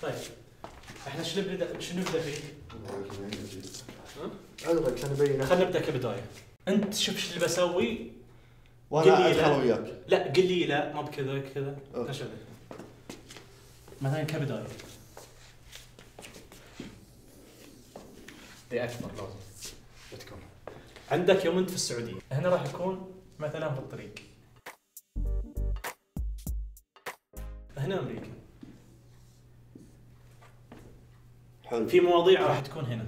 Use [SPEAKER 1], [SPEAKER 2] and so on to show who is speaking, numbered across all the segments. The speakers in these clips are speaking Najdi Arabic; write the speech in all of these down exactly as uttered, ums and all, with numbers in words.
[SPEAKER 1] طيب احنا شنو نبدا شنو نبدا فيه؟
[SPEAKER 2] ها؟ كان ابين.
[SPEAKER 1] خلينا نبدا كبدايه. انت شوف ايش اللي بسوي
[SPEAKER 2] وانا ادخل وياك.
[SPEAKER 1] لا قل لي لا ما بكذا كذا ايش مثلا كبدايه. دي اكبر لازم بتكون عندك يوم انت في السعوديه، هنا راح يكون مثلا في الطريق، هنا امريكا.
[SPEAKER 2] حلو.
[SPEAKER 1] في مواضيع راح تكون هنا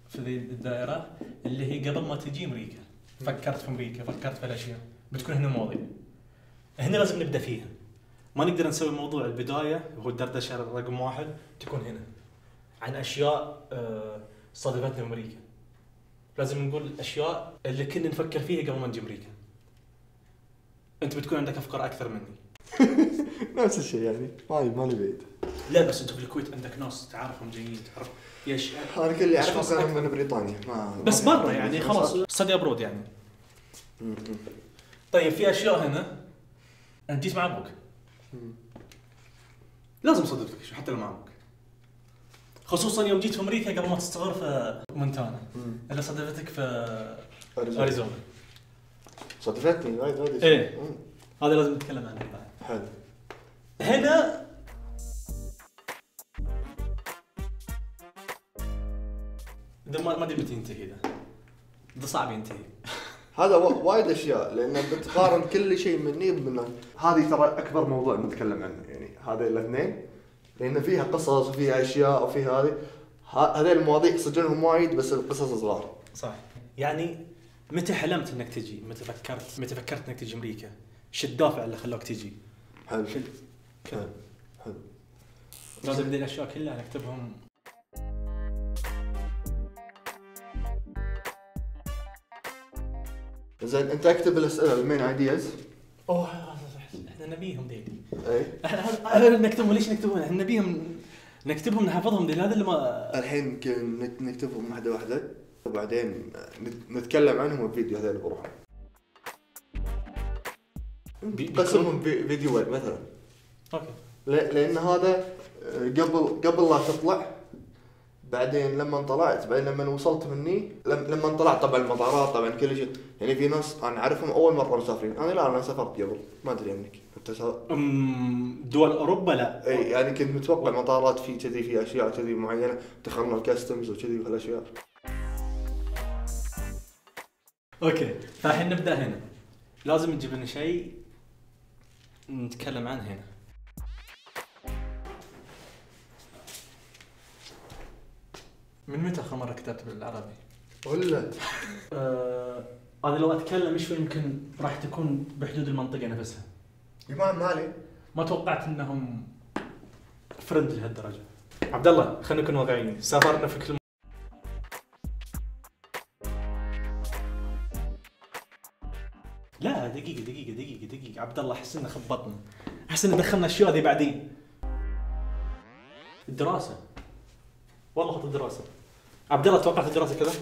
[SPEAKER 1] في ذي الدائره اللي هي قبل ما تجي امريكا، فكرت في امريكا، فكرت في الاشياء، بتكون هنا مواضيع. هنا لازم نبدا فيها، ما نقدر نسوي موضوع البدايه وهو الدردشه رقم واحد تكون هنا عن اشياء صادفتنا في امريكا. لازم نقول الاشياء اللي كنا نفكر فيها قبل ما نجي امريكا. انت بتكون عندك افكار اكثر مني.
[SPEAKER 2] نفس الشيء يعني مالي مالي بعيد.
[SPEAKER 1] لا بس انت في الكويت عندك ناس تعرفهم جايين، تعرف ايش
[SPEAKER 2] انا كل اللي اعرفه كانوا من بريطانيا، ما
[SPEAKER 1] بس برا يعني خلاص ستدي ابرود يعني. طيب في اشياء هنا انت جيت مع ابوك لازم صدقتك حتى لو مع ابوك، خصوصا يوم جيت في امريكا قبل ما تستقر في مونتانا اللي صدفتك في اريزونا.
[SPEAKER 2] صدفتني وايد وايد.
[SPEAKER 1] ايه هذا لازم نتكلم عنه بعد.
[SPEAKER 2] حلو.
[SPEAKER 1] هنا ده ما ما ادري متى ينتهي، ذا ده صعب ينتهي.
[SPEAKER 2] هذا وايد اشياء لان بتقارن كل شيء مني بمنه. هذه ترى اكبر موضوع نتكلم عنه يعني هذا الاثنين، لان فيها قصص وفيها اشياء وفي هذه هذه المواضيع سجلهم وايد بس القصص صغار.
[SPEAKER 1] صح. يعني متى حلمت انك تجي؟ متى فكرت متى فكرت انك تجي امريكا؟ شو الدافع اللي خلاك تجي؟
[SPEAKER 2] حلو. حلو. حلو.
[SPEAKER 1] لازم هذه الاشياء كلها نكتبهم.
[SPEAKER 2] زين انت اكتب الاسئله المين ايدياز.
[SPEAKER 1] اوه احنا نبيهم ذي.
[SPEAKER 2] اي
[SPEAKER 1] نكتبهم. ليش نكتبهم؟ احنا نبيهم نكتبهم نحفظهم ذي. هذا اللي ما
[SPEAKER 2] الحين يمكن نكتبهم واحده واحده وبعدين نتكلم عنهم بفيديو هذول بروحهم. قسمهم فيديوهات مثلا.
[SPEAKER 1] اوكي.
[SPEAKER 2] لان هذا قبل قبل لا تطلع، بعدين لما طلعت، بعدين لما وصلت مني، لما طلعت طبعا المطارات طبعا كل شيء يعني. في ناس انا اعرفهم اول مره مسافرين، انا لا انا سافرت قبل ما ادري عنك. انت سافرت
[SPEAKER 1] دول اوروبا؟ لا
[SPEAKER 2] اي يعني كنت متوقع مطارات في كذي في اشياء كذي معينه دخلنا الكاستمز وكذي وهالاشياء.
[SPEAKER 1] اوكي فالحين نبدا هنا. لازم نجيب لنا شيء نتكلم عنه هنا. من متى آخر مرة كتبت بالعربي؟
[SPEAKER 2] ولا
[SPEAKER 1] آه، أنا لو أتكلم شوي يمكن راح تكون بحدود المنطقة نفسها.
[SPEAKER 2] إمام مالي.
[SPEAKER 1] ما توقعت إنهم فرند لهالدرجة. عبد الله خلينا نكون واقعيين، سافرنا في كل. لا دقيقة دقيقة دقيقة دقيقة عبد الله، أحس إنه خبطنا، أحس إنه دخلنا أشياء ذي بعدين. الدراسة والله خط الدراسة. عبد الله توقعت الدراسة كذا؟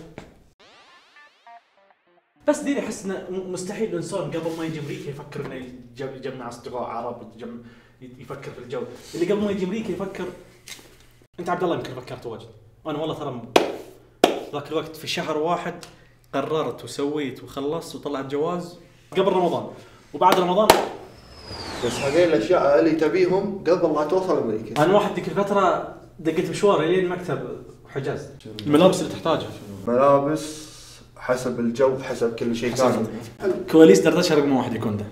[SPEAKER 1] بس ديري احس انه مستحيل الانسان قبل ما يجي امريكا يفكر انه يجمع اصدقاء عرب، يفكر في الجو اللي قبل ما يجي امريكا يفكر. انت عبد الله يمكن فكرت واجد، انا والله ترى ذاك الوقت في شهر واحد قررت وسويت وخلصت وطلعت جواز قبل رمضان وبعد رمضان.
[SPEAKER 2] بس هذه الاشياء اللي تبيهم قبل لا توصل امريكا.
[SPEAKER 1] انا واحد ذيك الفتره دقيت مشواري لين مكتب حجاز. الملابس اللي تحتاجها
[SPEAKER 2] ملابس حسب الجو حسب كل شيء كان.
[SPEAKER 1] كواليس دردشه رقم واحد يكون ده.